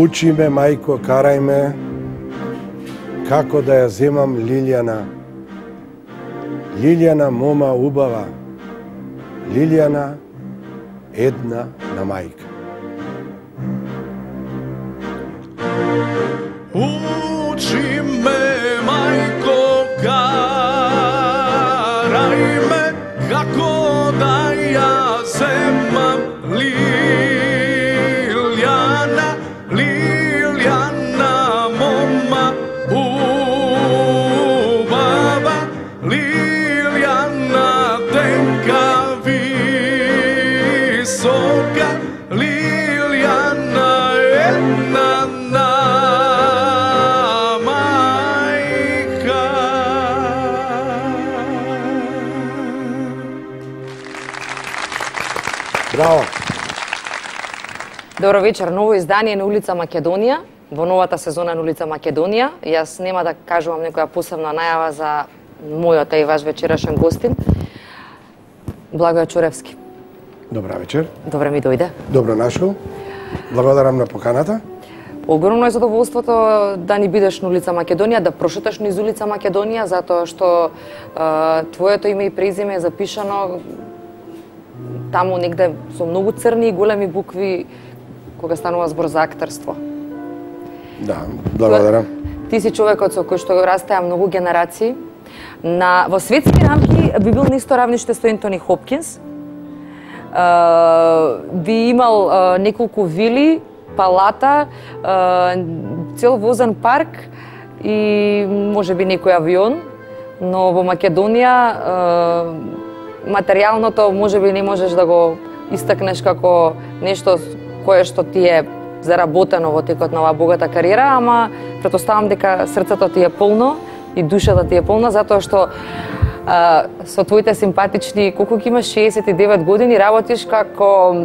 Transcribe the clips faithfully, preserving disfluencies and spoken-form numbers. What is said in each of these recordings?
Учи ме, мајко, карај ме, како да ја земам Лилјана. Лилјана, мома убава, Лилјана, една на мајка. Учи ме, мајко, карај ме, како да ја земам Лилјана. Лилјана, мома убава, Лилјана, денка висока, Лилјана, една на мајка. Браво! Добро вечер, ново издание на улица Македонија, во новата сезона на улица Македонија. Јас нема да кажувам некоја посебна најава за мојот и ваш вечерашен гостин. Благоја Чоревски. Добра вечер. Добре ми дојде. Добро нашол. Благодарам на поканата. Огромно е задоволството да ни бидеш на улица Македонија, да прошеташ низ улица Македонија, затоа што е, твоето име и презиме е запишано таму негде со многу црни и големи букви кога станува збор за актерство. Да, благодарам. Ти си човекот со кој што растеа многу генерации. На во светски рамки би бил на исто равниште со Ентони Хопкинс. Би имал неколку вили, палата, цел возен парк и можеби некој авион, но во Македонија материјалното можеби не можеш да го истакнеш како нешто кое што ти е заработено во текот на оваа богата кариера, ама претпоставам дека срцето ти е полно и душата ти е полна, затоа што а, со твоите симпатични, колку ги имаш, шеесет и девет години, работиш како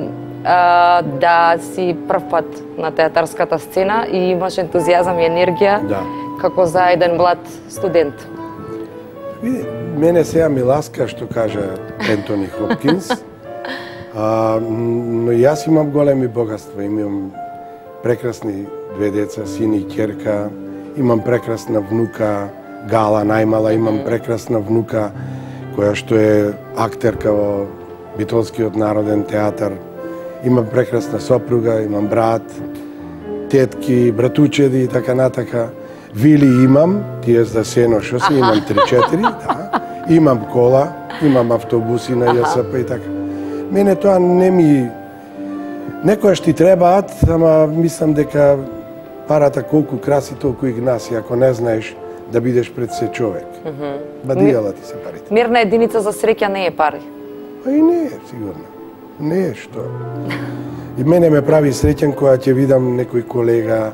а, да си прв пат на театарската сцена и имаш ентузијазам и енергија, да, како за еден млад студент. Види, мене сега ми ласка што кажа Ентони Хопкинс, а, но јас имам големи богатства, имам прекрасни две деца, син и ќерка, имам прекрасна внука, Гала најмала, имам прекрасна внука која што е актерка во Битолскиот народен театар, имам прекрасна сопруга, имам брат, тетки, братучеди и така натака. Вили имам, тие за сено што се, имам три-четири, да. Имам кола, имам автобуси на Ја С П и така. Мене тоа не ми... Некојаш ти требаат, ама мислам дека парата колку краси, толку и гнаси, ако не знаеш да бидеш пред се човек. Бадијала ти се парите. Мирна единица за среќа не е пари. А и не е, сигурно. Не е што. И мене ме прави среќен кога ќе видам некој колега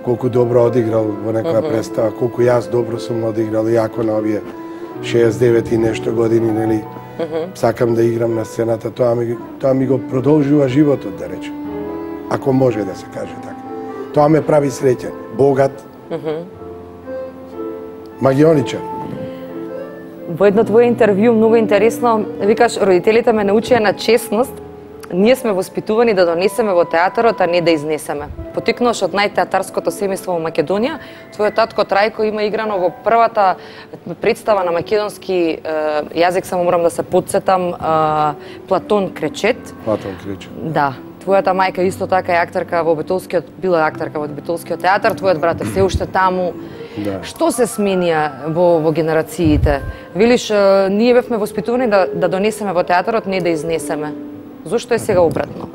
колку добро одиграл во некоја представа, колку јас добро сум одиграл, иако на овие шеесет и девет и нешто години, нели, сакам да играм на сцената, тоа ми, тоа ми го продолжува животот, да речем. Ако може да се каже така. Тоа ме прави среќен, богат, магионичар. Во едно твое интервју, многу интересно, викаш, родителите ме научија на честност, ние сме воспитувани да донесеме во театарот, а не да изнесеме. Потикнуваш од најтеатарското семејство во Македонија, твојот татко Трајко има играно во првата представа на македонски јазик, само морам да се потсетам, Платон Кречет. Платон Кречет. Да. Твојата мајка исто така е актерка во Битолскиот, била актерка во Битолскиот театар, твојот брат е се уште таму. Да. Што се сменија во, во генерациите? Велиш, ние бевме воспитувани да, да донесеме во театарот, не да изнесеме. Зошто е сега обратно?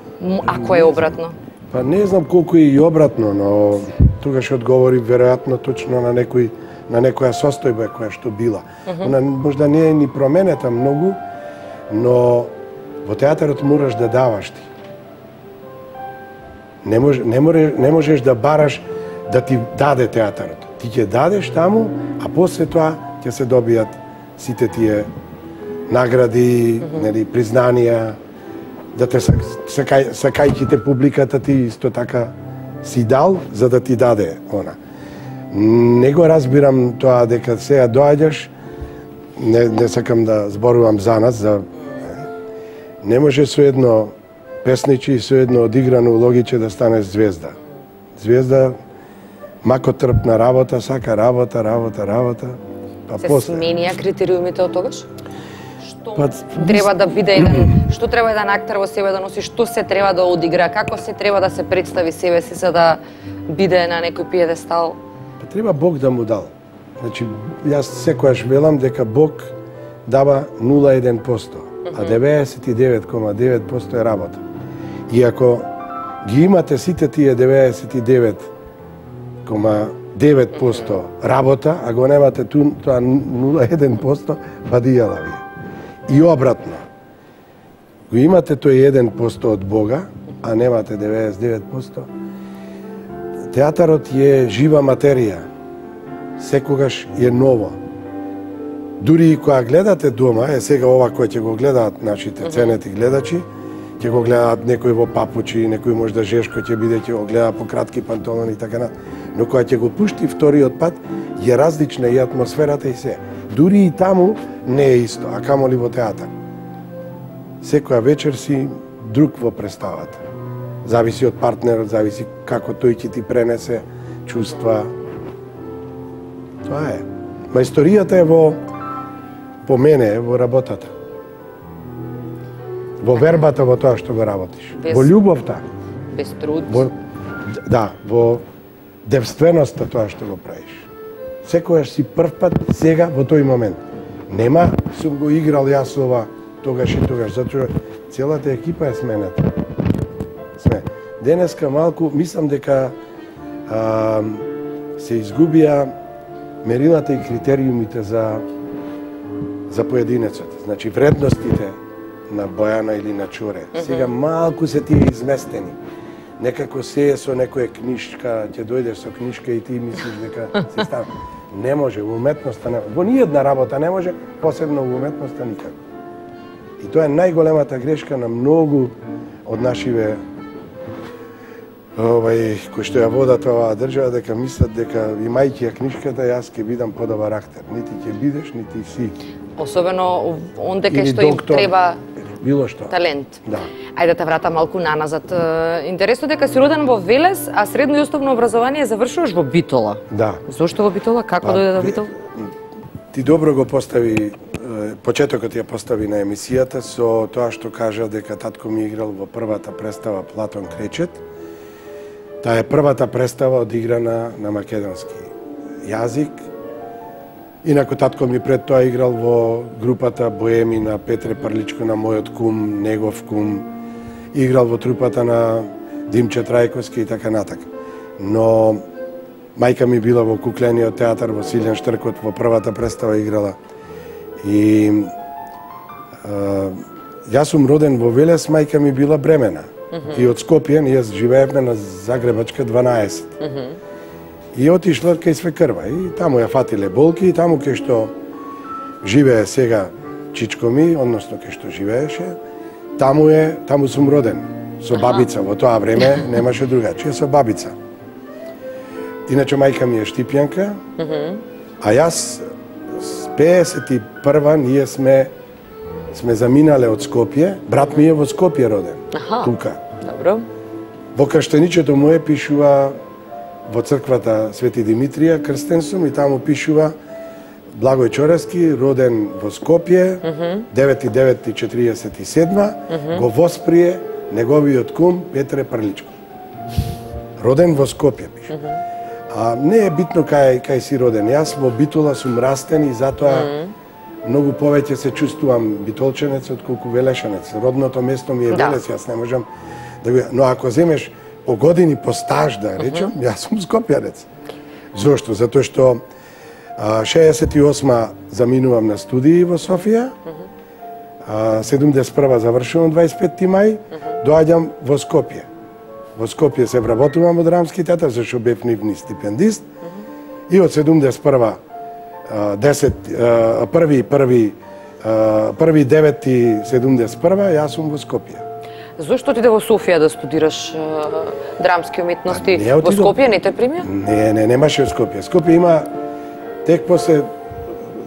Ако е обратно? Па не знам колку е и обратно, но тогаш одговори веројатно точно на некој на некоја состојба која што била. Uh -huh. Она можда не е ни променета многу, но во театарот мораш да даваш ти. Не, мож, не, море, не можеш да бараш да ти даде театарот. Ти ќе дадеш таму, а после тоа ќе се добијат сите тие награди, mm-hmm. нели, признанија, да те сакај, сакајќи те публиката ти исто така си дал за да ти даде она. Не го разбирам тоа дека сега доаѓаш, не, не сакам да зборувам за нас, за не може со едно песничи и со едно одиграно улогиче да станеш звезда. Звезда макотрпна работа, сака работа, работа, работа. Па се после сменија критериумите од тогаш? Што па, треба да биде еден, што треба еден актер во себе да носи, што се треба да одигра, како се треба да се представи себе си за да биде на некој пиедестал? Па треба Бог да му дал. Значи, јас секојаш велам дека Бог дава нула целу еден проценти, а деветдесет и девет целу девет проценти е работа. И ако ги имате сите тие деветдесет и девет целу девет проценти работа, а го немате ту, тоа нула целу еден проценти, бадијала ви. И обратно. Го имате тој еден проценти од Бога, а немате деветдесет и девет проценти, театарот е жива материја. Секогаш е ново. Дури и кога гледате дома, е сега ова кој ќе го гледаат нашите ценети гледачи, ќе го гледаат некој во папучи, некој можда жешко ќе биде, ќе го гледа по кратки панталони и така на. Но кога ќе го пушти вториот пат, е различна и атмосферата и се. Дури и таму не е исто, а камоли во театар. Секоја вечер си друг во представата. Зависи од партнерот, зависи како тој ќе ти пренесе чувства. Тоа е. Мајсторијата е во, по мене, е во работата. Во вербата, во тоа што го работиш. Без, во љубовта. Без труд. Во, да, во девственоста тоа што го правиш. Секојаш си прв пат, сега, во тој момент. Нема, сум го играл јас ова, тогаш и тогаш, затоа целата екипа е сменета. Сме. Денеска малку, мислам дека а, се изгубија мерилата и критериумите за за поединецот. Значи вредностите на Бојана или на Чоре. Mm -hmm. Сега малку се тие изместени. Некако се е со некоја книжка, ќе дојдеш со книжка и ти мислиш дека се става. Не може, во уметноста не. Во ниједна работа не може, посебно во уметноста никако. И тоа е најголемата грешка на многу од нашиве овај кои што ја водат оваа држава, дека мислат дека имајќи ја книжката јас ќе бидам подобар актер. Нити ќе бидеш, нити си. Особено онде кај Или што им доктор, треба било што. талент. Да. Ајде да те вратам малку наназад. Интересно дека си роден во Велес, а средно и основно образование завршуваш во Битола. Да. Зошто во Битола? Како Па, дојде до Битол? Ти добро го постави, почетокот ја постави на емисијата со тоа што кажа дека татко ми играл во првата представа Платон Кречет. Таа е првата представа одиграна на македонски јазик. Инаку татко ми пред тоа играл во групата Боеми на Петре Прличко, на мојот кум, негов кум. Играл во трупата на Димче Трајковски и така натака. Но мајка ми била во куклениот театар во Силјан Штркот, во првата представа играла. И а, јас сум роден во Велес, мајка ми била бремена. Mm-hmm. И од Скопје, ние живеевме на Загребачка дванаесет. Mm-hmm. И отишла кај свекрва. И таму ја фатиле болки, и таму кај што живее сега чичко ми, односно кај што живееше, таму е, таму сум роден. Со бабица, во тоа време немаше другачија, со бабица. Иначе мајка ми е Штипјанка, mm-hmm. а јас пеесет и прва ние сме сме заминале од Скопје, брат ми е во Скопје роден. Аха. Тука. Добро. Во крштеничето мое пишува во црквата Свети Димитрија, крстен сум, и таму пишува Благој Чорески, роден во Скопје, mm-hmm. девети девети четириесет и седма, mm-hmm. го восприе неговиот кум Петре Прличко. Роден во Скопје пише. Mm-hmm. А не е битно кај кај си роден. Јас во Битола сум растен и затоа mm-hmm. многу повеќе се чувствувам битолченец отколку велешанец. Родното место ми е да. Велес, јас не можам да го, но ако земеш по години по стаж да речем, јас сум скопјанец. Зошто? Затоа што а, шеесет и осма заминувам на студии во Софија, а, седумдесет и прва завршувам дваесет и петти мај, доаѓам во Скопје. Во Скопје се вработувам во Драмски театар, зашто бев нивни стипендист, и од седумдесет и прва десет први први први девети седумдесет и прва јас сум во Скопје. Зошто отиде во Софија да студираш uh, драмски уметности? Во Скопје не те примија? Не, не, немаше во Скопје. Скопје има тек после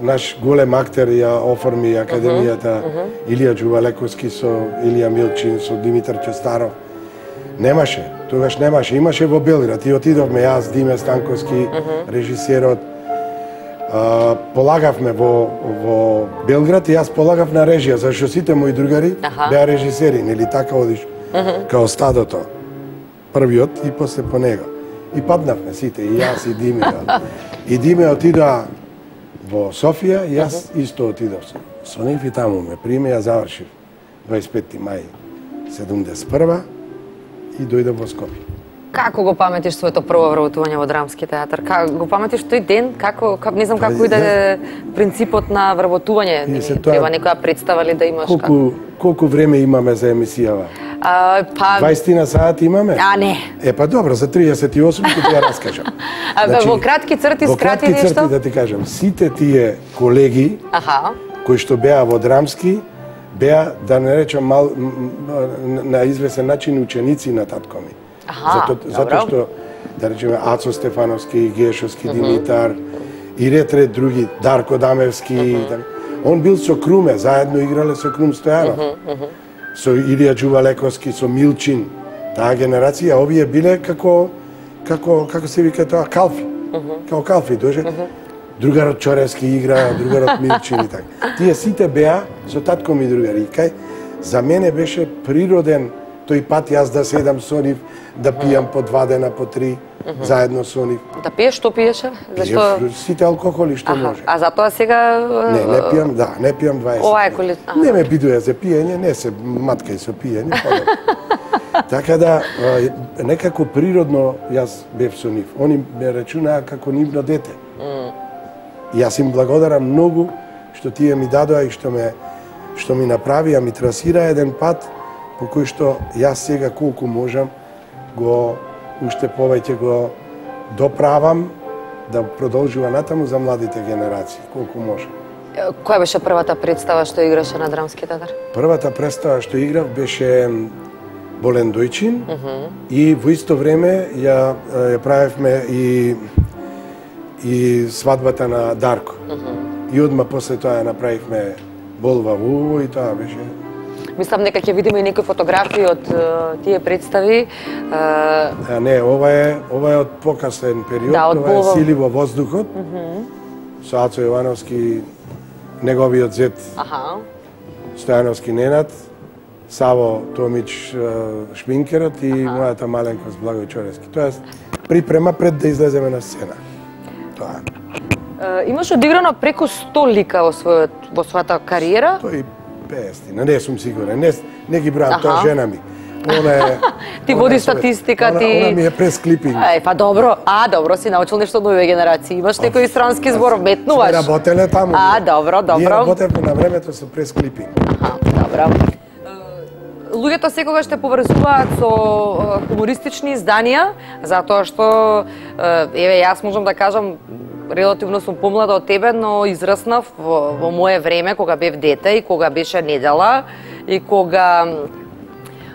наш голем актер ја оформи академијата uh -huh. Илија Џувалековски со Илија Милчин, со Димитар Ќостаров. Немаше, тогаш немаше. Имаше во Белград и отидовме јас, Диме Станковски, uh -huh. режисерот. Uh, полагавме во, во Белград и јас полагав на режија, зашто сите мои другари Аха. беа режисери, нели така одиш, uh -huh. као стадото, првиот и после по него. И паднавме сите, и јас и Диме. И Диме отидоа во Софија, и јас uh -huh. исто отидов со, со нив и таму ме приме, ја завршив дваесет и петти мај седумдесет и прва и дојдов во Скопје. Како го паметиш своето прво вработување во Драмски театар? Како го паметиш тој ден? Како, како не знам како иде да принципот на вработување? Не, треба некоја представа ли да имаш? Колку како? Колку време имаме за емисијава? А, па дваесет сати имаме? А, не. Е, па добро, за триесет и осум ќе ти ја раскажам. А, значи, во кратки црти скрати нешто? Во кратки црти да ти кажам, сите тие колеги Аха. кои што беа во Драмски, беа, да не речам, мал, на извесен начин ученици на татко ми. Аха, Зато, затоа што, да речеме, Ацо Стефановски, Гешовски, uh -huh. Димитар, и ред ред други, Дарко Дамевски, uh -huh. так. Он бил со Круме, заедно играле со Крум Стојанов. Uh -huh, uh -huh. Со Илија Џувалековски, со Милчин, таа генерација, овие биле како, како, како се вика тоа, калфи. Uh -huh. Као калфи, доже. Uh -huh. Другарот Чоревски игра, другарот Милчин и така. Тие сите беа со татко ми другари. Кај, за мене беше природен тој пат јас да седам со нив, да пијам по два дена, по три, uh -huh. заедно со нив. Да пиеш, што пиеше? Зашто сите алкохоли што Аха. може. А затоа сега Не, не пијам, да, не пијам дваесет. Ова е коли... Не ме бидуе за пиење, не се маткај со пиење, така да, некако природно јас бев со нив. Они ме рачунаа како нивно дете. Mm. И јас им благодарам многу што тие ми дадоа и што ме што ми направија, ми трасира еден пат по кој што јас сега колку можам го уште повеќе го доправам да продолжува натаму за младите генерации, колку можам. Која беше првата представа што играше на Драмски театар? Првата представа што играв беше Болен Дојчин uh -huh. и во исто време ја, ја правевме и и свадбата на Дарко. Uh -huh. И одма после тоа ја направивме Болва Вуво и тоа беше. Мислам дека ќе видиме и некои фотографии од uh, тие представи. Uh... А не, ова е ова е од покасен период, да, од ова Болва... е Сили во воздухот. Uh -huh. Со Ацо Јовановски, неговиот зет. Аха. Стојановски Ненад, Саво Томич шминкерот и Аха. Мојата маленкост Благој Чоревски. Тоест припрема пред да излеземе на сцена. Тоа. Uh, имаш одиграно преку сто лика во својот во својата кариера? сто и песет, не сум сигурен. Не не ги бројам, тоа жена ми. Она е Ти води статистика, она, ти. Она ми е пресклипинг. Ај, па добро. А, добро, си научил нешто од новите генерации. Имаш некој странски збор, метнуваш. Сме работеле таму. А, добро, добро. Ние работевме на времето со пресклипинг. Аха, добро. Луѓето секогаш те поврзуваат со хумористични изданија, затоа што, еве, јас можам да кажам, релативно сум помлада од тебе, но израснав во, во мое време, кога бев дете и кога беше недела, и кога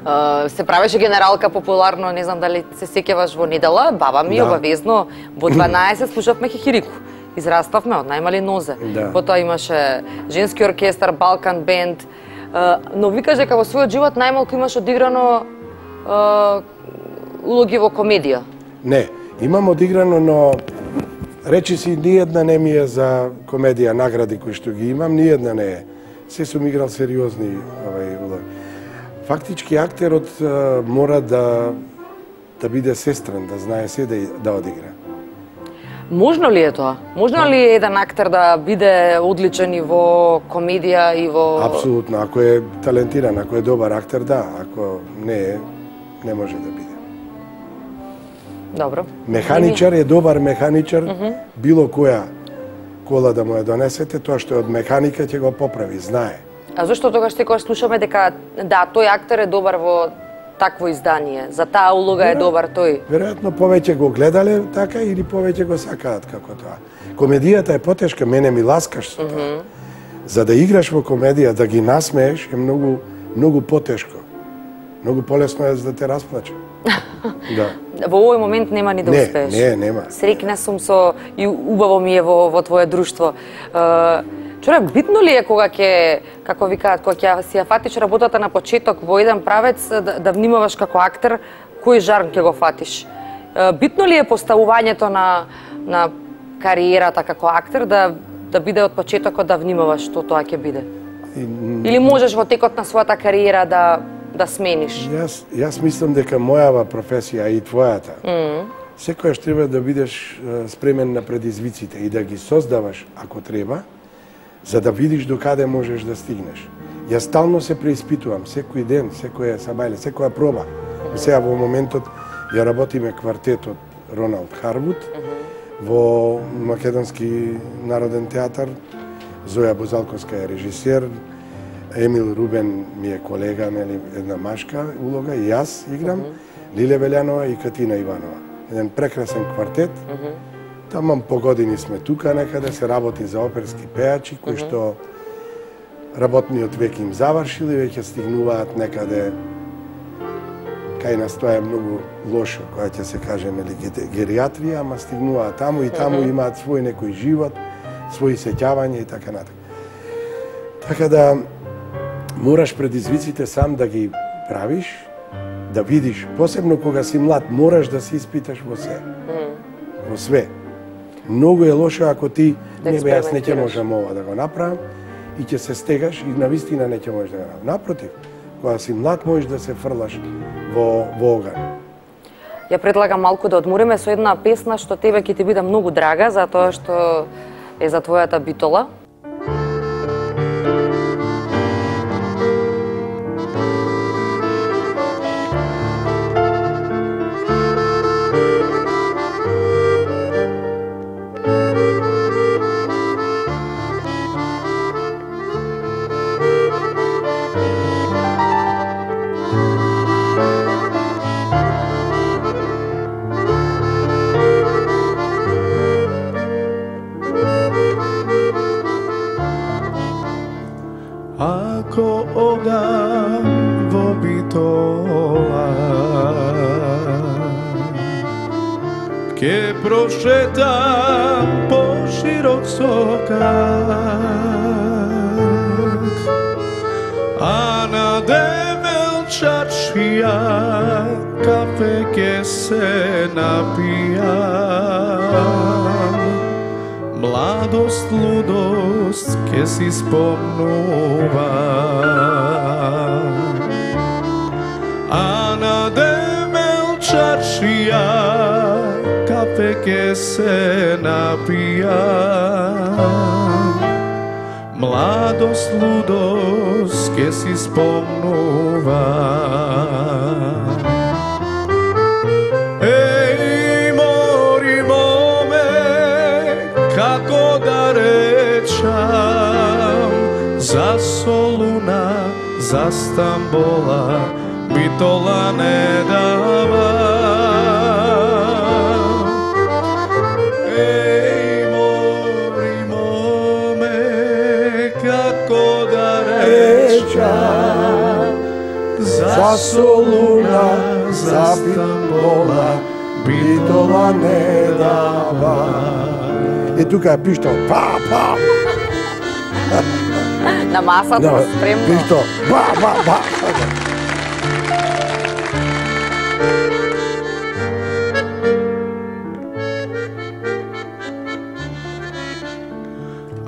Uh, се правеше генералка популарно, не знам дали се сеќаваш во недела, баба ми да. Обавезно во дванаесет слушавме хихирику. Израставме од најмали нозе. Да. Потоа имаше женски оркестар, Балкан бенд. Uh, но викаш дека во својот живот најмалку имаш одиграно uh, улоги во комедија. Не, имам одиграно, но речи си ниедна не ми е за комедија, награди кои што ги имам, ниедна не е. Се сум играл сериозни овај улоги. Фактички актерот а, мора да да биде сестрен, да знае се да, да одигра. Можно ли е тоа? Можно ли е еден актер да биде одличен и во комедија и во... Апсолутно, ако е талентиран, ако е добар актер, да, ако не е, не може да биде. Добро. Механичар е добар механичар, mm -hmm. било која кола да му ја донесете, тоа што е од механика ќе го поправи, знае. А зашто тогаш секогаш слушаме дека да, тој актер е добар во такво издание, за таа улога е добар тој? Веројатно повеќе го гледале така или повеќе го сакаат како тоа. Комедијата е потешка, мене ми ласкаш со тоа. Mm -hmm. За да играш во комедија, да ги насмееш е многу многу потешко. Многу полесно е за да те расплаче. Да. Во овој момент нема ни да не, успееш. Не, нема. Среќна сум со и убаво ми е во во твое друштво. Чуре, битно ли е кога ќе, како викаат, кога ќе си ја фатиш работата на почеток во еден правец да, да внимаваш како актер кој жарм ќе го фатиш? Битно ли е поставувањето на на кариерата како актер да да биде од почетокот да внимаваш што тоа ќе биде? Или можеш во текот на својата кариера да да смениш? Јас јас мислам дека мојава професија и твојата, mm -hmm. секојаш треба да бидеш спремен на предизвиците и да ги создаваш ако треба, за да видиш до каде можеш да стигнеш. Јас стално се преиспитувам, секој ден, секоја сабајле, секоја проба. Сега во моментот ја работиме квартетот Роналд Харвуд mm -hmm. во Македонски народен театар. Зоја Бозалковска е режисер, Емил Рубен ми е колега, нели, една машка улога, и јас играм, mm -hmm. Лиле Велјанова и Катина Иванова. Еден прекрасен квартет. Mm -hmm. Таман по години сме тука некаде, се работи за оперски пејачи, кои mm -hmm. што работниот век им завршил и веќе стигнуваат некаде кај нас тоа е многу лошо, која ќе се каже, нели, гериатрија, ама стигнуваат таму и таму mm -hmm. имаат свој некој живот, своји сеќавања и така натака. Така да мораш предизвиците сам да ги правиш, да видиш, посебно кога си млад, мораш да се испиташ во се. Mm. Во све. Многу е лошо ако ти да не бе, јас не ќе можам ова да го направам и ќе се стегаш и навистина не ќе можеш да го направам. Напротив, кога си млад можеш да се фрлаш во, во оган. Ја предлагам малку да одмориме со една песна што тебе ќе ти биде многу драга, затоа што е за твојата битола. Ако одам во битола, ке прошетам по широк сокак, а на девелчачија кафе ке се напијам. Младост, лудост ке си спомнува, а на девелчачија кафе ке се напијам. Младост, лудост ке си спомнува. Како да речам, за Солуна, за Стамбола, битола не дава. Еј, мори моме, како да речам, за Солуна, за Стамбола, битола не дава. Е тука е пиштол, па, па. На масата да, спремно. Пиштол, ба, ба, ба.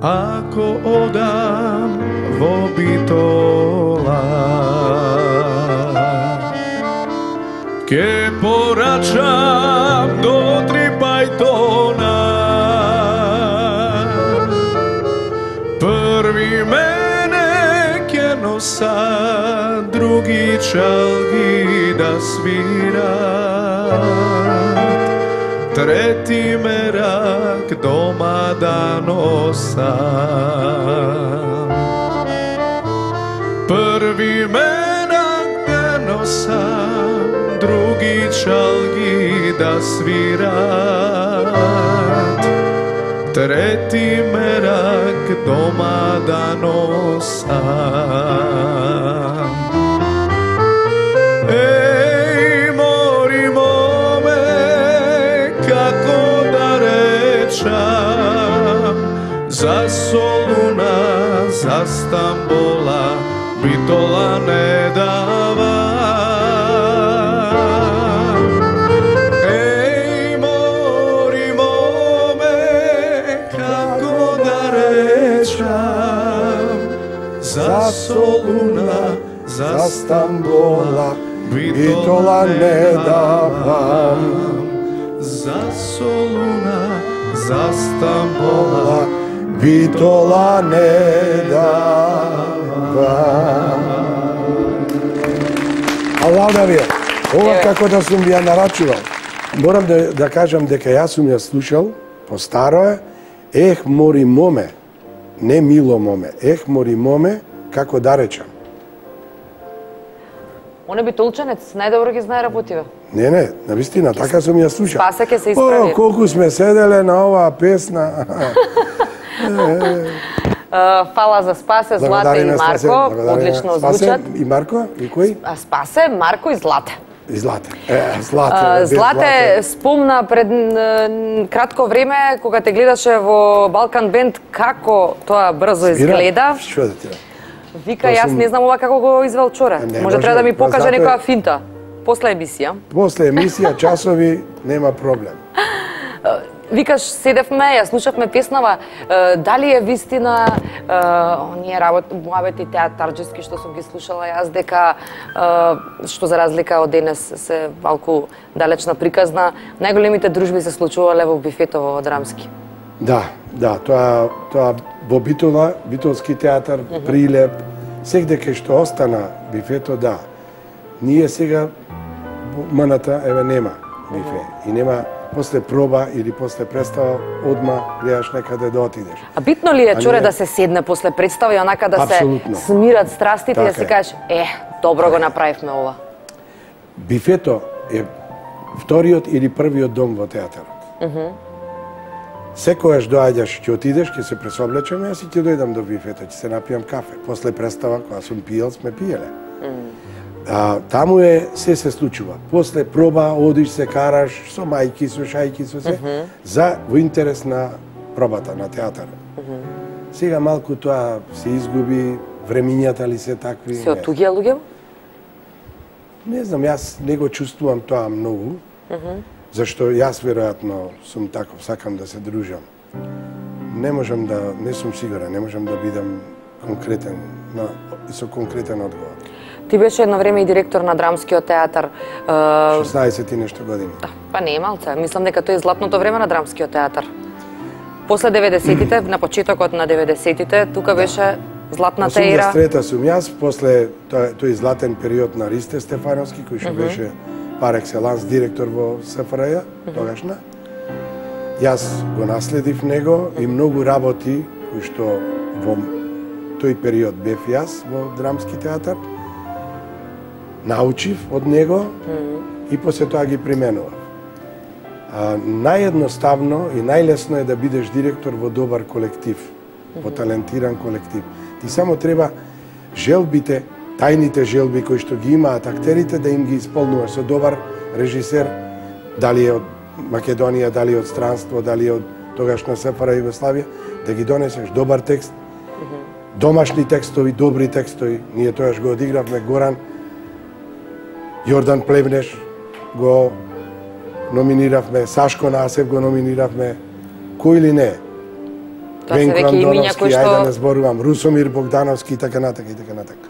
Ако одам во битола, ке порачам до три бајтона. Први мене ке носа, други други чалги да свират, трети мерак дома да носам. Први мерак да носам, други чалги да свират, трети мерак дома да носам. Еј, мори моме, како да речам, за Солуна, за Стамбола, Битола не дава. Еј, мори моме, како да речам, за Солуна, за Стамбола, Битола не давам. За Солуна, за Стамбола, Битола не давам. Аллада ви, ова како да сум ви ја нарачувал. Морам да, да кажам дека јас сум ја слушал, по старо е, ех мори моме, не мило моме, ех мори моме, како да речам. Оне битолченец, најдобро ги знае работиве. Не, не, навистина, така сум ја слушал. Спасе ке се исправи. О, колку сме седеле на оваа песна. Фала за Спасе, Злата и Марко, одлично звучат. И Марко, и кој? А Спасе, Марко и Злата. И Злата. Е, Злата. Злате спомна пред кратко време, кога те гледаше во Балкан Бенд, како тоа брзо изгледа. Што да ти да? Вика, јас не знам ова како го извел вчора. Може треба да ми покаже некоја финта. После емисија. После емисија, часови, нема проблем. Викаш, седевме, ја слушавме песнава, дали е вистина оние работи театарџески што сум ги слушала јас, дека што за разлика од денес се малку далечна приказна, најголемите дружби се случувале во бифето во Драмски. Да, да, тоа тоа во Битола, Битолски театар, uh -huh. Прилеп, сегде кај што остана бифето, да. Ние сега маната еве нема бифе uh -huh. и нема после проба или после представа одма гледаш некаде да отидеш. А битно ли е, Чоре, не... да се седне после представа и онака да Абсолютно. Се смират страстите така и да си кажеш, е, добро го направивме ова? Бифето е вториот или првиот дом во театарот. Uh -huh. Секојаш доаѓаш, ќе отидеш, ќе се пресоблечеме, јас и ќе дојдам до бифето, ќе се напијам кафе. После представа, кога сум пиел, сме пиеле. Mm. А, таму е, се се случува. После проба, одиш, се караш, со мајки, со шајки, со се, mm -hmm. за во интерес на пробата, на театарот. Mm -hmm. Сега малку тоа се изгуби, времињата ли се такви? Се отуѓа луѓе? Не знам, јас не го чувствувам тоа многу. Mm -hmm. Зашто јас веројатно сум таков, сакам да се дружам. Не можам да, не сум сигурен, не можам да бидам конкретен, на, со конкретен одговор. Ти беше едно време и директор на Драмскиот театар. шеснаесет и нешто години. Да, па не е малце. Мислам дека тој е златното време на Драмскиот театар. После деветдесетите, на почетокот на деветдесетите, тука беше златната ера. осумдесет и трета сум јас, после тој, тој златен период на Ристе Стефановски, кој што uh -huh. беше пар екселанс директор во Се Фр Ј, тогашна. Јас го наследив него и многу работи кои што во тој период бев јас во Драмски театар, научив од него mm -hmm. и после тоа ги применував. А, наједноставно и најлесно е да бидеш директор во добар колектив, mm -hmm. во талентиран колектив. Ти само треба желбите, тајните желби кои што ги имаат актерите да им ги исполнуваш со добар режисер, дали е од Македонија, дали од странство, дали од тогашна Се Фр Ј Југославија, да ги донесеш добар текст, mm -hmm. домашни текстови, добри текстови. Ние тоаш го одигравме Горан, Јордан Плевнеш го номиниравме, Сашко Насев го номиниравме, кој ли не? Венко Андоновски, ајде што... да не зборувам, Русомир Богдановски и така натака и така натака.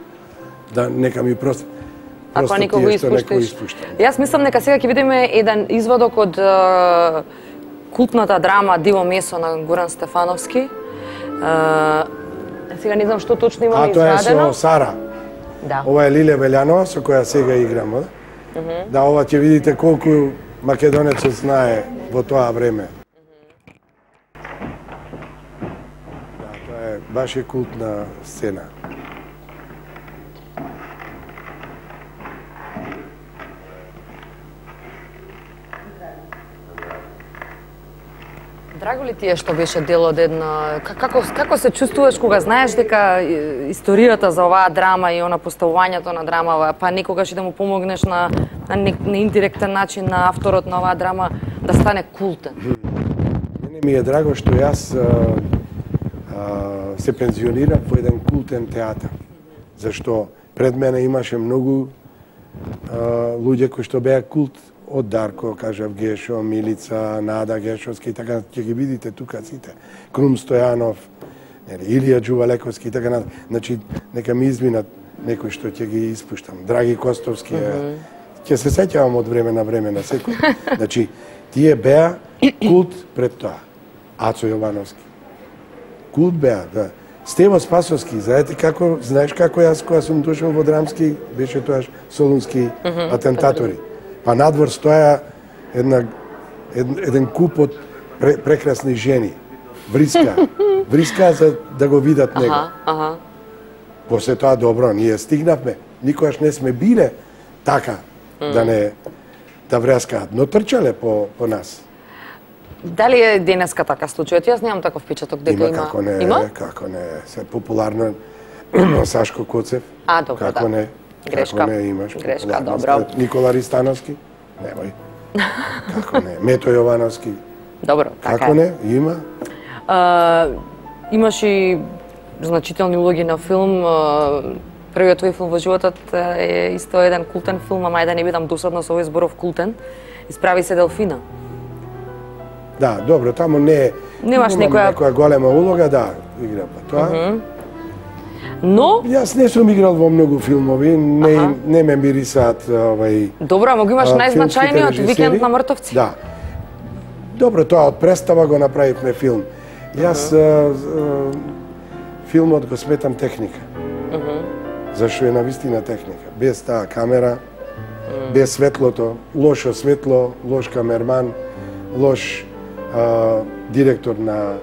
Да, нека ми просто... Ако никого го испуштиш. Јас мислам дека сега ќе видиме еден изводок од uh, култната драма Диво месо на Горан Стефановски. Uh, сега не знам што точно имаме извадено. А тоа е со Сара. Да. Ова е Лиле Велјанова со која сега играм, да? Mm -hmm. Да, ова ќе видите колку македонецот знае во тоа време. Да, тоа е баш е култна сцена. Драго ли ти е што беше дел од една... Како, како се чувствуваш кога знаеш дека историјата за оваа драма и она поставувањето на драмава, па некогаш и да му помогнеш на, на, на индиректен начин на авторот на оваа драма да стане култен? Мене ми е драго што јас а, а, се пензионирав во еден култен театар. Зашто пред мене имаше многу а, луѓе кои што беа култ, од Дарко, кажав, Гешо, Милица, Нада Гешовски и така, ќе ги видите тука сите. Крум Стојанов, нели, Илија Џувалековски и така натаму. Значи, нека ми изминат некои што ќе ги испуштам. Драги Костовски, mm -hmm. ќе се сеќавам од време на време на секој. Значи, тие беа култ пред тоа. Ацо Јовановски. Култ беа, да. Стево Спасовски, знаете како, знаеш како јас кога сум дошол во Драмски, беше тоаш солунски mm -hmm. атентатори. Па надвор стоја една, ед, еден куп од пре, прекрасни жени. Вриска. Вриска за да го видат него. Аха, аха. После тоа добро, ние стигнавме. Никогаш не сме биле така mm. да не да врескаат, но трчале по, по нас. Дали е денеска така случајот? Јас немам таков впечаток дека има. Има, како не, има? како не. Се популарно Сашко Коцев. А, добро, како да. не. Грешка. Како не имаш. Грешка, добро. Никола Ристановски? Немој. Како не? Мето Јовановски? Добро, така како е. не? Има? А, имаш и значителни улоги на филм. Првиот твој филм во животот е исто еден култен филм, ама да не бидам досадна со овој зборов култен. Исправи се Делфина. Да, добро, таму не е. Немаш некоја... некоја голема улога, да, игра па тоа. Uh -huh. Но Јас не сум играл во многу филмови, не, ага. не ме мирисаат овај. Добро, ама го имаш најзначајниот Викенд на мртовци. Да. Добро, тоа од представа го направивме филм. Јас uh -huh. филмот го сметам техника. Uh -huh. Зашто е навистина техника. Без таа камера, uh -huh. без светлото, лошо светло, лош камерман, лош а, директор на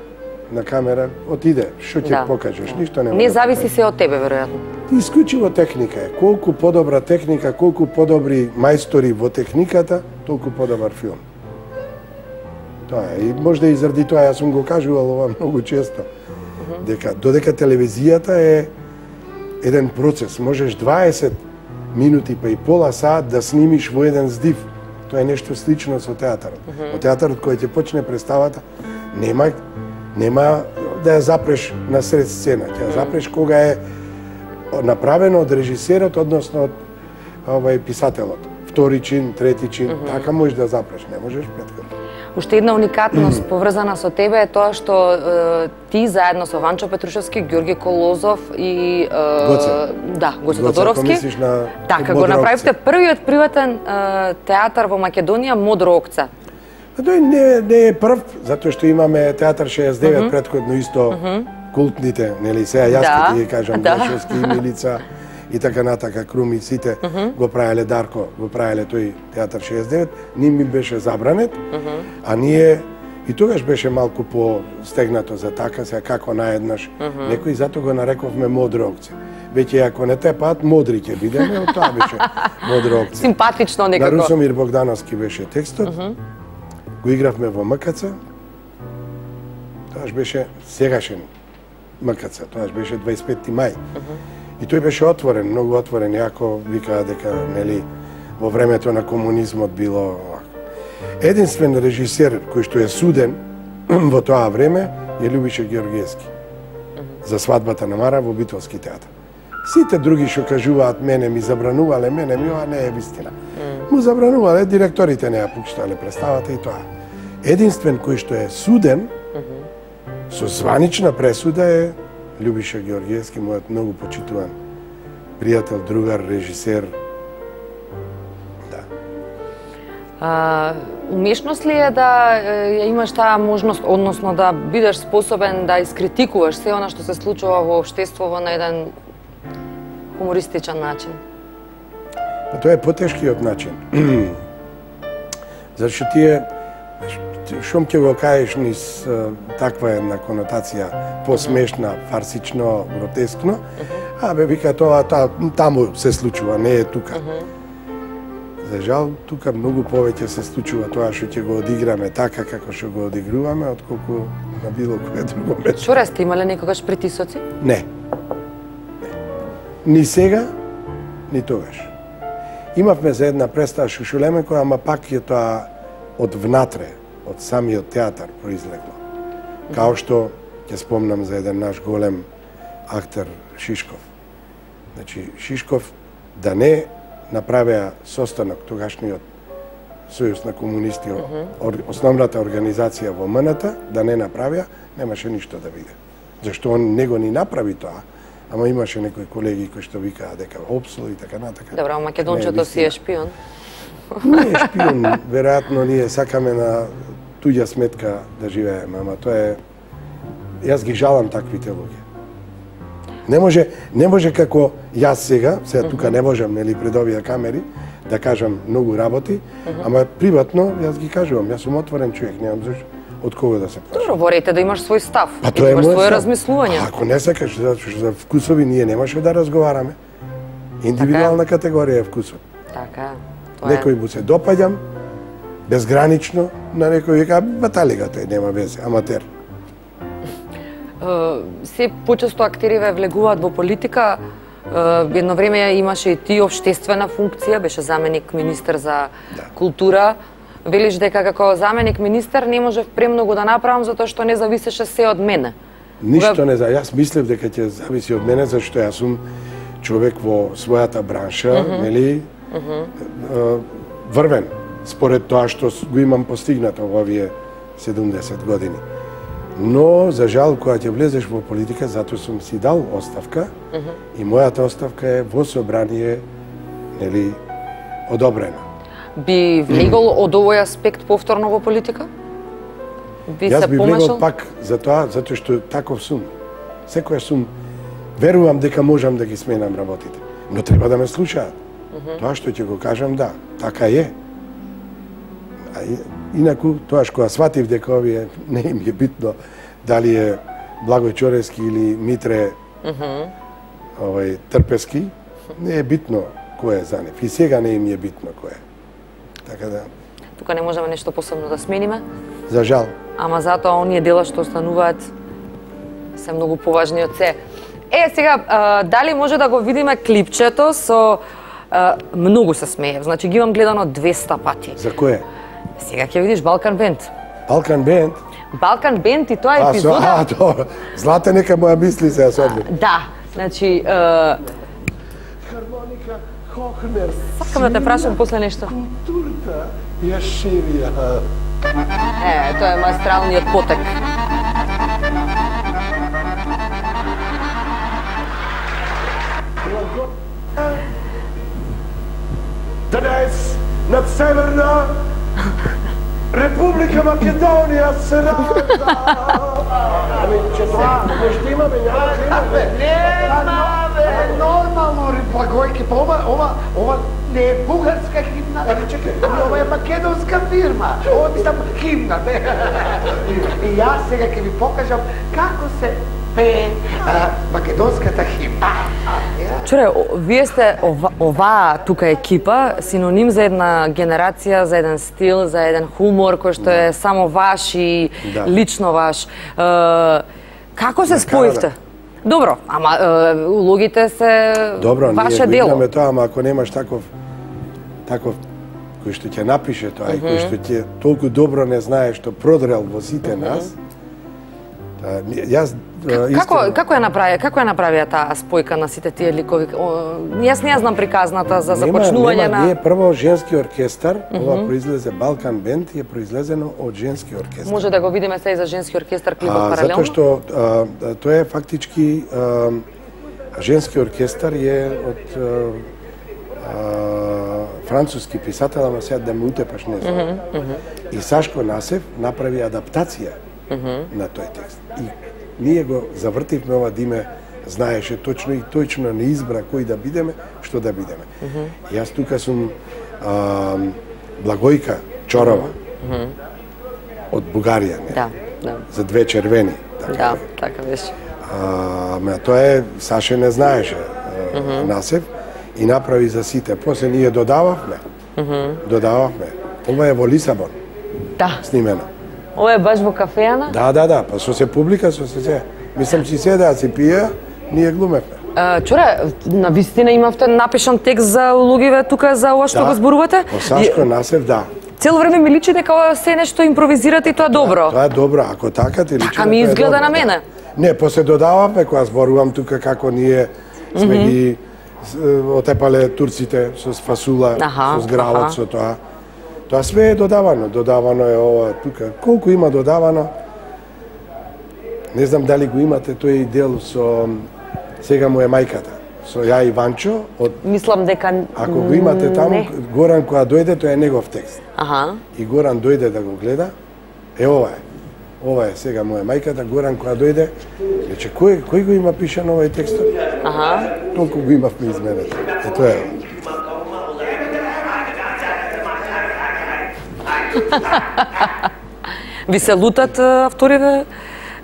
на камера, отиде, што ќе да. покажеш, ништо не. Не зависи се од тебе, веројатно. Исклучиво техника е. Колку подобра техника, колку подобри мајстори во техниката, толку подобар филм. Тоа е. И можда и заради тоа јас сум го кажувал ова многу често. Uh -huh. Дека додека телевизијата е еден процес, можеш дваесет минути па и пола саат да снимиш во еден здив. Тоа е нешто слично со театарот. Uh -huh. Во театарот кој ќе почне представата, нема нема да ја запреш на сред сцена, ќе ја запреш кога е направено од режисерот, односно од овај писателот. Втори чин, трети чин, uh -huh. така можеш да запреш, не можеш претходно. Уште една уникатност поврзана со тебе е тоа што е, ти заедно со Ванчо Петрушевски, Ѓорги Колозов и е, Гоце. Да, Гоце Тодоровски. На така го направивте првиот приватен е, театар во Македонија Модро окце. Тој не, не е прв, затоа што имаме театар шеесет и девет uh -huh. претходно исто uh -huh. култните, нели сега јас ќе да. ти кажам да. Гешовски, Милица и така натака, Круми, сите uh -huh. го правеле, Дарко го правеле тој театар шеесет и девет, ни ми беше забранет, uh -huh. а ние и тогаш беше малку по-стегнато за така, сега како наеднаш uh -huh. некој, затоа го нарековме Модро окце. Веќе ако не те пат, модри ќе бидеме, од тоа беше Модро окце. Симпатично некако. На Русомир Богдановски беше текстот. Uh -huh. Го игравме во МКЦ. Тоаш беше сегашен МКЦ, тоаш беше дваесет и петти мај. Uh -huh. И тој беше отворен, многу отворен, јако викаа дека нели во времето на комунизмот било. Единствен режисер кој што е суден во тоа време е Љубиша Ѓоргиевски. Uh -huh. За свадбата на Мара во Битолски театар. Сите други што кажуваат мене ми забранувале, мене ми ова не е вистина. Mm. Му забранувале, директорите не ја пуштале представата и тоа. Единствен кој што е суден, mm -hmm. со званична пресуда е Љубиша Ѓоргиевски, мојот многу почитуван пријател, другар, режисер. Да. А, умешност ли е да ја имаш таа можност, односно да бидеш способен да искритикуваш се она што се случува во општеството на еден хумористичен начин? Па тоа е потешкиот начин. Зашто тие шум ќе го кажеш низ таква една конотација посмешна, фарсично, гротескно, а бе вика тоа та, таму се случува, не е тука. За жал, тука многу повеќе се случува тоа што ќе го одиграме така како што го одигруваме, отколку на било кое друго место. Чуре, сте имале некогаш притисоци? Не. Ни сега, ни тогаш. Имавме за една представа Шушулеменко, ама пак е тоа од внатре, од самиот театар произлегло. Као што ќе спомнам за еден наш голем актер Шишков. Значи, Шишков да не направеа состанок тогашниот Сојуз на комунисти, mm -hmm. основната организација во М Н Т, да не направеа, немаше ништо да биде. Зашто он не го ни направи тоа, ама имаше некои колеги кои што викаа дека опсол и така натака. Добро, македончето си е шпион. Не е шпион, веројатно ние сакаме на туѓа сметка да живееме, ама тоа е... Јас ги жалам таквите луѓе. Не може, не може како јас сега, сега тука не можам, нели, пред овие камери, да кажам многу работи, ама приватно јас ги кажувам, јас сум отворен човек, немам зашто од кого да се плашам. Добро, ворите да имаш свој став, па, да имаш своје размислување. Ако не сакаш, зашто за вкусови ние немаше да разговараме. Индивидуална така категорија е вкусот. Така, тоа е. Некој му се допаѓам, безгранично, на некој вика, баталига тој, нема везе, аматер. Се почесто актериве влегуваат во политика. Едно време имаше и ти општествена функција, беше заменик министер за да. култура. Велиш дека како заменик министер не можев премногу да направам затоа што не зависеше се од мене. Ништо не за. Јас мислев дека ќе зависи од мене зашто јас сум човек во својата бранша, mm -hmm. нели? Mm -hmm. Врвен според тоа што го имам постигнато во овие седумдесет години. Но, за жал, кога ќе влезеш во политика, затоа сум си дал оставка, uh -huh. и мојата оставка е во собрание, нели, одобрена. Би влегол од овој аспект повторно во политика? Би Јас се би помешал? влегол пак за тоа, затоа што таков сум. Секојаш сум, верувам дека можам да ги сменам работите, но треба да ме слушаат. Uh -huh. Тоа што ќе го кажам, да, така е. А инаку, тоаш кога сватив дека овие не им е битно дали е Благој Чорески или Митре mm -hmm. овој Трпески, не е битно кој е за нив. И сега не им е битно кој е. Така да... Тука не можеме нешто посебно да смениме. За жал. Ама затоа оние дела што остануваат се многу поважни од се. Е, сега, а, дали може да го видиме клипчето со... А, многу се смеев, значи ги имам гледано двеста пати. За кое? Сега ќе видиш Балкан Бенд. Балкан Бенд? Балкан Бенд и тоа е епизода... А, добро. Злата нека моја мисли се особи. Да, значи... Uh... Хармоника Хохнер. Сакам да те прашам после нешто. Културата ја ширија. Е, тоа е маестралниот потек. Днес над Северна Република Македонија се ражда. Ами, че тоа, нешто имаме, нямаме. Нема, бе, нормално, Благојке, па ова, ова, ова не е бугарска химна, ами чекай, ова е македонска фирма, ова ми само химна, бе. И јас сега ќе ви покажам како се пее македонската химна. Чуре, вие сте ова, оваа тука екипа синоним за една генерација, за еден стил, за еден хумор кој што е само ваш и да. лично ваш. Е, како се споивте? Добро, ама е, улогите се Добро, ваше ние дело. Добро, ние тоа, ама ако немаш таков таков кој што ќе напише тоа mm -hmm. и кој што ќе толку добро не знае што продрел во сите mm -hmm. нас, та, јас Како, како ја направи, како ја направија таа спојка на сите тие ликови? О, јас не ја знам приказната за започнување нема, на... Ние прво женски оркестар, mm -hmm. ова произлезе Балкан Бенд, е произлезено од женски оркестар. Може да го видиме се и за женски оркестар клипот паралелно? Затоа што а, тоа е фактички а, женски оркестар е од а, а, француски писател, ама сега да ме утепаш не знам. Mm -hmm. И Сашко Насев направи адаптација mm -hmm. на тој текст. И ние го завртивме ова да име знаеше точно и точно не избра кој да бидеме, што да бидеме. Mm -hmm. Јас тука сум а, Благојка Чорова, mm -hmm. од Бугарија, не? Да, да. За две червени. Така, да, така беше. А, ме, тоа е, Саше не знаеше а, mm -hmm. Насев и направи за сите. После ние додававме, mm -hmm. додававме. Ова е во Лисабон, да. Снимено. Ова е баш во кафејана? Да, да, да, па со се публика, со се се. Мислам, че седеа си пија, ние глумевме. Чуре, на вистина имавте напишан текст за луѓеве тука за ова што да, го зборувате? По Сашко Насев, да. Цело време ми личи дека ова се нешто импровизирате и тоа добро. Да, тоа е добро, ако така ти личи. Така ми изгледа на мене. Да. Не, после додаваме кога зборувам тука како ние сме mm -hmm. ги отепале турците со фасула, аха, со згравот, аха. Со тоа. Тоа све е додавано, додавано е ова тука. Колку има додавано? Не знам дали го имате тој дел со Сега му е мајката. Со ја и Ванчо од Мислам дека ако го имате таму, не. Горан кога дојде, тоа е негов текст. Аха. И Горан дојде да го гледа. Е ова е. Ова е Сега му е мајката. Горан кога дојде, рече кој кој го има пишан овој текст? Аха. Толку го имавме изменето. Е тоа е. Ви се лутат авториве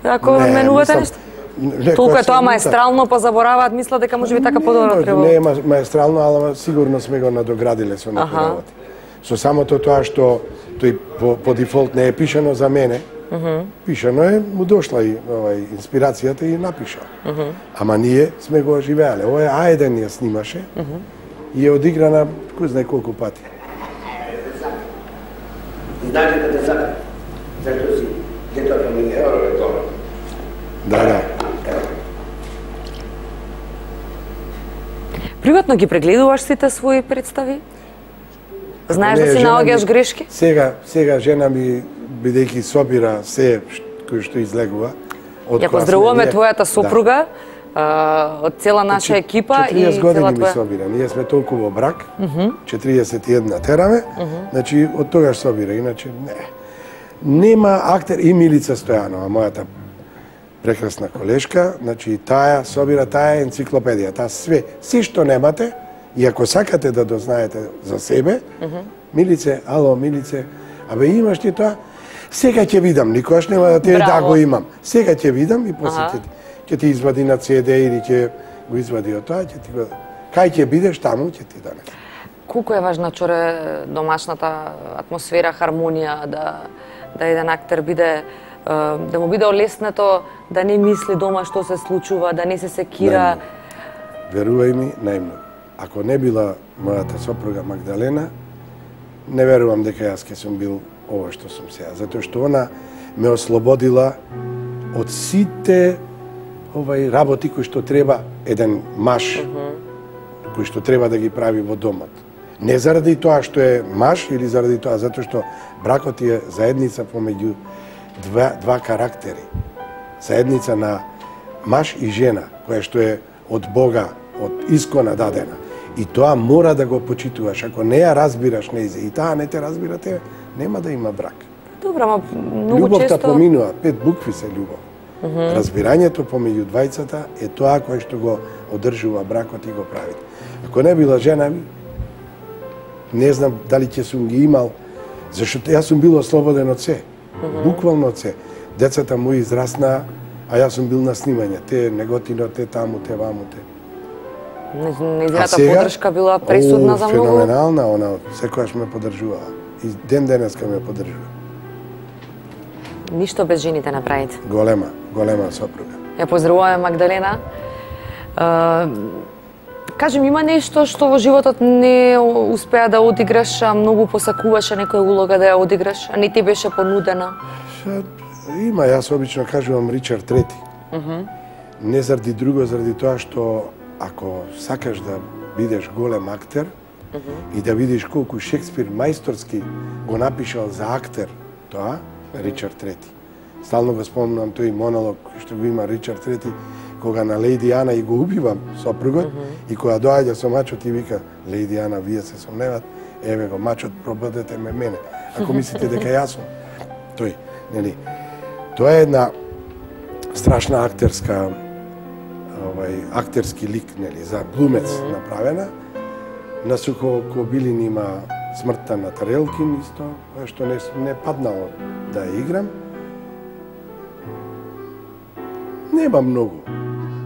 ако не, менувате нешто? Не, толку е тоа маестрално, па забораваат, мислат дека можеби така подобро треба. Не е маестрално, али сигурно сме го надоградиле со некои работи. Со самото тоа што тој по, по дефолт не е пишано за мене, uh -huh. пишано е, му дошла и овај инспирацијата и напиша. Uh -huh. Ама ние сме го оживеале. Ова е А еден ја снимаше uh -huh. и е одиграна кој знае колку пати. Знаете децата, зашто си детото ми не е тоа. Да, да. Приватно ги прегледуваш сите своји представи? Знаеш не, да си наоѓаш грешки? Сега, сега жена ми, бидејќи собира се кој што излегува. Ја поздравуваме твојата сопруга, да. Од цела наша екипа и цела твоја... четириесет години ми собира. Ние сме толку во брак, uh -huh. четириесет и една тераме, uh -huh. значи од тогаш собира, иначе не. Нема актер и Милица Стојанова, мојата прекрасна колешка, значи таа собира, таа е енциклопедија, таа све, се што немате, и ако сакате да дознаете за себе, uh -huh. Милице, ало, Милице, абе имаш ти тоа? Сега ќе видам, никош нема да те да го имам. Сега ќе видам и после ќе, ќе ти извади на Це Де или ќе го извади од тоа, ќе ти го... Кај ќе бидеш, таму ќе ти донесе. Колку е важна, Чоре, домашната атмосфера, хармонија, да, да еден актер биде да му биде олеснето да не мисли дома што се случува, да не се секира. Верувај ми, најмногу. Ако не била мојата сопруга Магдалена, не верувам дека јас ке сум бил ова што сум сега, затоа што она ме ослободила од сите овај работи кои што треба еден маж, uh -huh. кој што треба да ги прави во домот. Не заради тоа што е маж или заради тоа, затоа што бракот е заедница помеѓу Два, два карактери. Заедница на маж и жена, која што е од Бога, од искона дадена. И тоа мора да го почитуваш. Ако не ја разбираш нејзе и таа не те разбира тебе, нема да има брак. Добро, ама многу Љубовта често... поминува, пет букви се љубов. Uh -huh. Разбирањето помеѓу двајцата е тоа кое што го одржува бракот и го прави. Ако не била жена ми, не знам дали ќе сум ги имал, зашто јас сум бил ослободен од се. Буквално од се. Децата мои израснаа, а јас сум бил на снимање. Те неготино, те таму, те ваму, те. Нејзината поддршка била пресудна о, за многу? Феноменална, она секојаш ме поддржувала. И ден денеска ме поддржува. Ништо без жените направите. Голема, голема сопруга. Ја поздравуваме Магдалена. Uh, кажем, има нешто што во животот не успеа да одиграш, а многу посакуваше некоја улога да ја одиграш, а не ти беше понудена? Ша, има, јас обично кажувам Ричард Трети. Uh -huh. Не заради друго, заради тоа што ако сакаш да бидеш голем актер uh -huh. и да видиш колку Шекспир мајсторски го напишал за актер, тоа Ричард Трети. Стално го спомнам тој монолог што го има Ричард Трети, кога на Лејди Ана и го убивам сопругот, uh -huh. и кога доаѓа со мачот и вика, Лејди Ана, вие се сомневат, еве го мачот, пробудете ме мене. Ако мислите дека јас сум, тој, нели. Тоа е една страшна актерска овај актерски лик, нели, за глумец mm -hmm. направена. На Сухо Кобилин има Смртта на Тарелкин исто, која што не, не паднало да ја играм. Нема многу.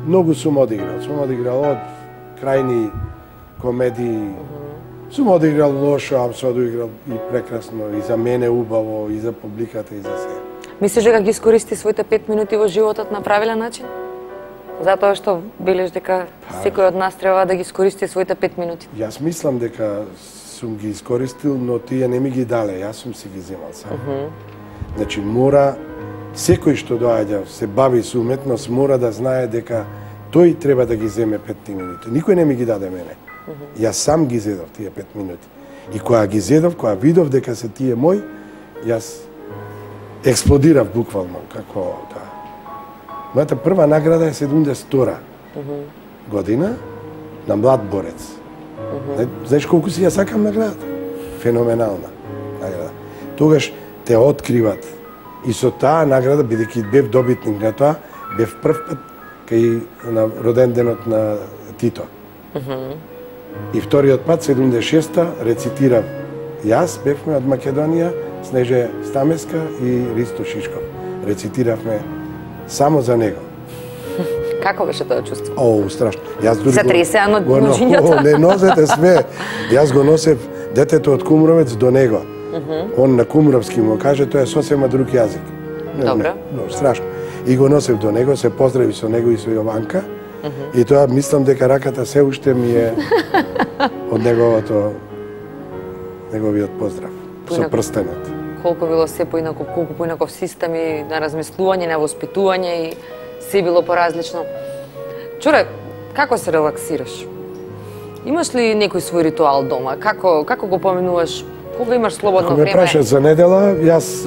Многу сум одиграл. Сум одиграл од крајни комедии. Mm -hmm. Сум одиграл лошо, а сум одиграл и прекрасно, и за мене убаво, и за публиката, и за се. Мислиш дека ги искористи своите пет минути во животот на правилен начин? Затоа што велиш дека секој од нас треба да ги искористи своите пет минути. Јас мислам дека сум ги искористил, но тие не ми ги дале, јас сум си ги земал сам. Uh -huh. Значи мора секој што доаѓа, се бави со уметност, мора да знае дека тој треба да ги земе пет минути. Никој не ми ги даде мене. Uh -huh. Јас сам ги зедов тие пет минути. И кога ги зедов, кога видов дека се тие мој, јас експлодирав буквално како да. Мојата прва награда е седумдесет и втора uh -huh. година на млад борец. Uh -huh. Знаеш колку си ја сакам наградата? Феноменална награда. Тогаш те откриват. И со таа награда, бидејќи бев добитник на тоа, бев прв пат кај на роден денот на Тито. Uh -huh. И вториот пат, седумдесет и шеста, рецитирав јас, бевме од Македонија, Снеже Стамеска и Ристо Шишков. Рецитиравме само за него. Како беше тоа чувство? О, страшно. Јас дури се тресеа на го, ножињата? Не носете све. Јас го носев детето од Кумровец до него. Uh -huh. Он на кумровски му каже, тоа е сосема друг јазик. Добро. Не, страшно. И го носев до него, се поздрави со него и со Јованка. Uh -huh. И тоа мислам дека раката се уште ми е од неговото неговиот поздрав. Со прстенот. Колку било се поинаков, колку поинаков систем и на размислување, на воспитување и се било поразлично. Чуре, како се релаксираш? Имаш ли некој свој ритуал дома? Како како го поминуваш? Кога имаш слободно време? време? Ако ме прашаш за недела, јас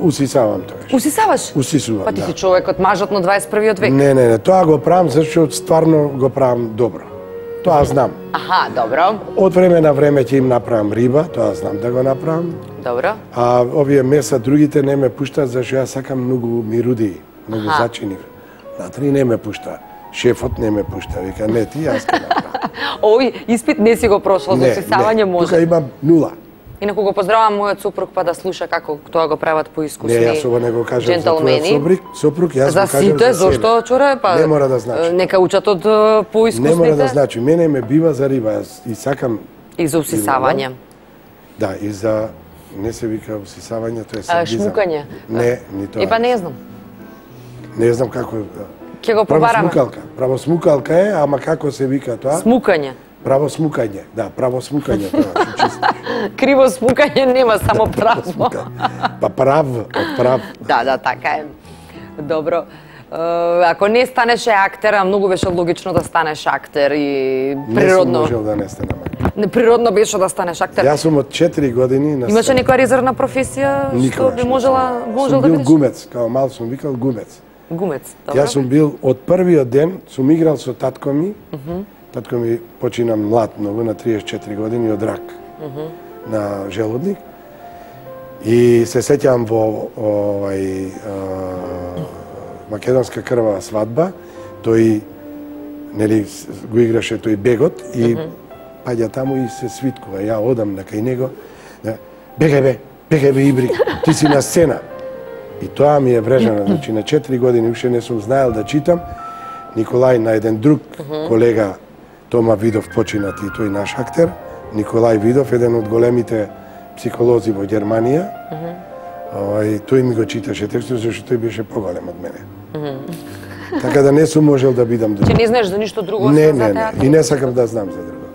усисавам тоа. Усисаваш? Усисувам, Па ти да. си човекот мажот на дваесет и првиот век. Не, не, не, тоа го правам зашто стварно го правам добро. Тоа знам. Аха, добро. Од време на време ќе им направам риба, тоа знам да го направам. Добро. А овие меса другите не ме пуштаат зашто јас сакам многу мируди, многу Аха. зачини. Натри не ме пушта. Шефот не ме пушта, вика не ти, јас ќе направам. Ој, испит не си го прошол за усисавање, може. Тука имам нула. Инаку го поздравам мојот супруг па да слуша како тоа го прават поискусни Не, јас ова не го кажам за твојот джентълмени. сопруг, сопруг, јас За го кажам сите, за себе. зошто, чуре, па Не мора да значи. нека учат од е, поискусните. Не мора да значи, мене ме бива за риба, јас и сакам И за усисавање. Да, и за не се вика усисавање, тоа е А, садизам. шмукање. Не, ни тоа. И па не знам. Не знам како. Ќе го Право побараме. смукалка. Право смукалка е, ама како се вика тоа? Смукање. Право смукање. Да, право смукање тоа. Чисто. Криво смукање нема, само право. Смука. Па прав, од прав. Да, да, така е. Добро. Е, Ако не станеше актер, а многу беше логично да станеш актер и Не сум природно. можел да не станам. Не, природно беше да станеш актер. Јас сум од четири години на Имаше сцена. некоја резервна професија што Никогаш би не можела сум. можел Сум да бил бидеш? гумец, као мал сум викал гумец. Гумец, добро. Јас сум бил од првиот ден, сум играл со татко ми. Татко ми почина млад, многу на триесет и четири години од рак на желудник. И се сеќавам во овај а, македонска крвава свадба, тој нели с- го играше тој бегот и паѓа таму и се свиткува. Ја одам на кај него. Да, бегај бе, бегај бе Ибри, ти си на сцена. И тоа ми е врежано, значи на четири години уште не сум знаел да читам. Николај на еден друг колега Тома Видов починат и тој наш актер. Николај Видов, еден од големите психолози во Германија. Овај, тој ми го читаше текстот, зашто тој беше поголем од мене. Така да не сум можел да бидам друг. Че не знаеш за ништо друго Не, освен за не, не. театар? И не сакам да знам за друго.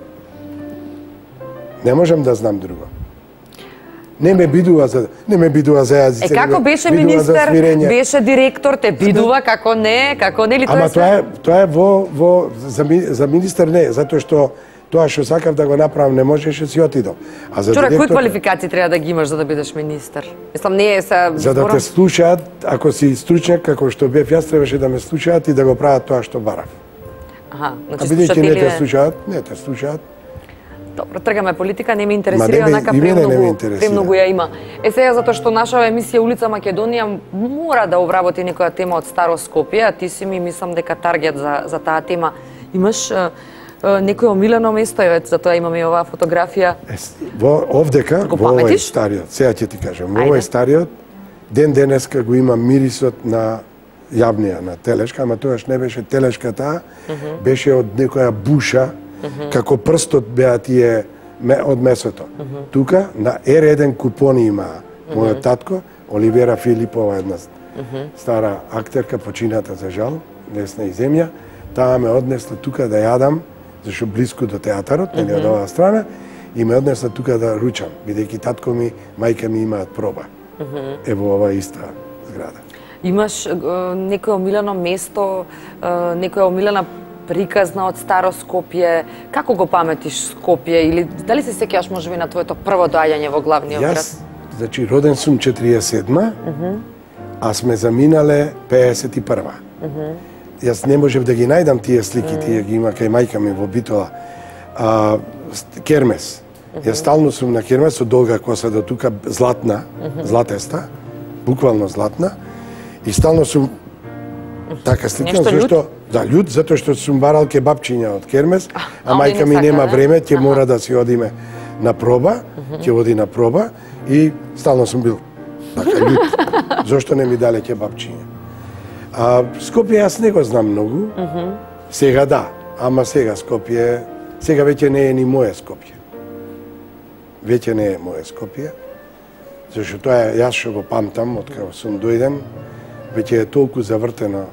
Не можам да знам друго. Не ме бидува за не ме бидува за јазици. Е, како беше министер, беше директор, те бидува, како не, како не ли тоа Ама е тоа све? е тоа е во во за, ми- за министер не, затоа што тоа што сакав да го направам не можеше си отидов. А за Чура, кои директор, квалификации треба да ги имаш за да бидеш министер? Мислам, не е се... за да те слушаат, ако си стручњак како што бев јас, требаше да ме слушаат и да го прават тоа што барав. Аха, А значи бидејќи не те слушателите... слушаат, не те слушаат. Добро, тргаме политика, не ме Ма интересира, не ме- онака и мене не ме премногу, интересира. премногу ја има. Е сега затоа што наша емисија Улица Македонија мора да обработи некоја тема од Старо Скопје, а ти си ми мислам дека таргет за за таа тема. Имаш а, а, некој омилено место, еве затоа имаме и оваа фотографија. Е, во овдека, Го во овој паметиш? стариот, сега ќе ти кажам, во Ајде. овој стариот, ден денеска го има мирисот на јавнија, на телешка, ама тоаш не беше телешка таа, беше од некоја буша, како прстот беа тие ме- од месото. Тука на ер еден купони има мојот татко, Оливера Филипова, една стара актерка, почината за жал, несна и земја, таа ме однесла тука да јадам, зашто близко до театарот, нели од оваа страна, и ме однесла тука да ручам, бидејќи татко ми, мајка ми имаат проба. Е во оваа иста зграда. Имаш е, некој омилено место, е, некоја омилена приказна од Старо Скопје? Како го паметиш Скопје или дали се сеќаваш можеби на твоето прво доаѓање во главниот град? Јас, значи, роден сум четириесет и седма, а сме заминале пеесет и прва. Јас не можев да ги најдам тие слики, тие ги има кај мајка ми во Битола. А, ст- кермес. Јас стално сум на кермес со долга коса до тука, златна, златеста, буквално златна, и стално сум така сликам, Нешто љут? зашто да, љут, затоа што сум барал кебапчиња од кермес, а, а оние мајка не ми сака, нема да? време, ќе Аха. мора да си одиме на проба, ќе оди на проба и стално сум бил така љут. Зошто не ми дале кебапчиња? А Скопје јас не го знам многу. Сега да, ама сега Скопје, сега веќе не е ни моје Скопје. Веќе не е моје Скопје. Зашто тоа е, јас што го памтам, од кога сум дојден, веќе е толку завртено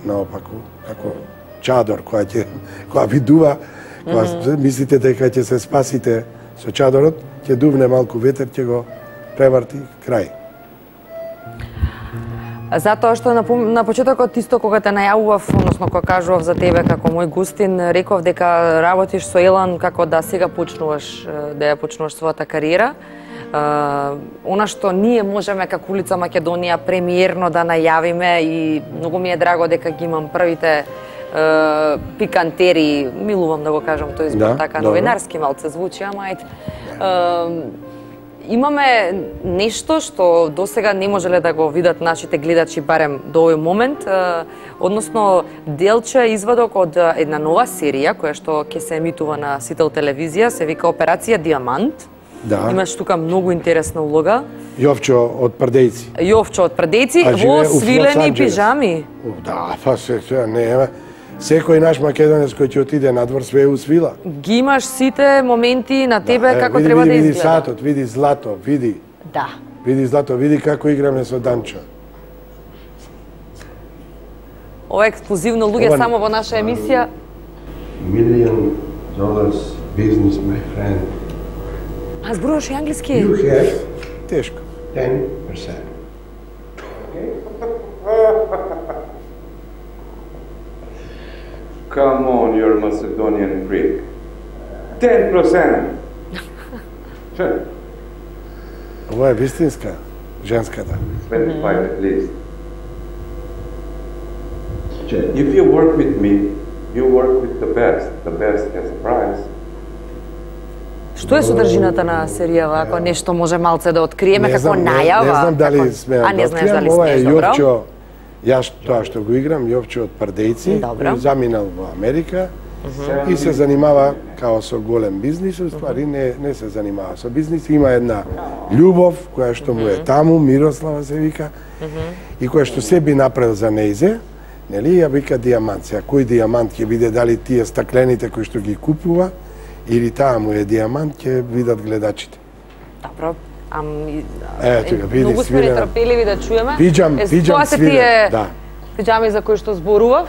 наопаку, како чадор која ќе, која ви дува, кога мислите дека ќе се спасите со чадорот, ќе дувне малку ветер, ќе го преврти крај. Затоа што на, пом- на почетокот исто кога те најавував, односно кога кажував за тебе како мој гостин, реков дека работиш со Елан како да сега почнуваш е, да ја почнуваш својата кариера. Uh, она што ние можеме како Улица Македонија премиерно да најавиме и многу ми е драго дека ги имам првите uh, пикантери, милувам да го кажам тој збор Да, така добро. новинарски малце звучи, ама ајде. Uh, имаме нешто што досега не можеле да го видат нашите гледачи барем до овој момент, uh, односно делче извадок од uh, една нова серија која што ќе се емитува на Сител телевизија, се вика Операција Диамант. Да. Имаш тука многу интересна улога. Јовчо од Прдејци. Јовчо од Прдејци А во живее у свилени Лос-Анџелес. пижами. О, да, па се, се, не е. Секој наш македонец кој ќе отиде надвор све усвила. Ги имаш сите моменти на тебе Е, како види, треба види, да види изгледа. сатот, види злато, види. Да. Види злато, види како играме со Данчо. Ова е ексклузивно луѓе Ова- само во наша емисија. Million dollars business, my friend. А зборуваш и англиски? have тешко. ten percent. Come on, you're a Macedonian freak. ten percent. Ова е вистинска, женската. twenty-five at least. If you work with me, you work with the best. The best has a price. Што е содржината на серијава, ако нешто може малце да откриеме Не како знам, не- најава? Не знам дали како... смеам А не да знаеш откријам. дали Ова е смееш, добро? Јовчо, јас тоа што го играм, Јовчо од Прдејци, Добро. кој заминал во Америка и се занимава као со голем бизнис, уствари не, не се занимава со бизнис, има една љубов која што му е таму, Мирослава се вика, и која што се би направил за нејзе, нели, ја вика дијамант. Сега кој дијамант ќе биде, дали тие стаклените кои што ги купува, или таа му е дијамант, ќе видат гледачите. Добро. Ам, и- Е, тука, види, многу сме свирена. нетрпеливи да чуеме. Видам, Е, видам тоа се свирена, тие да. пиџами за кои што зборував.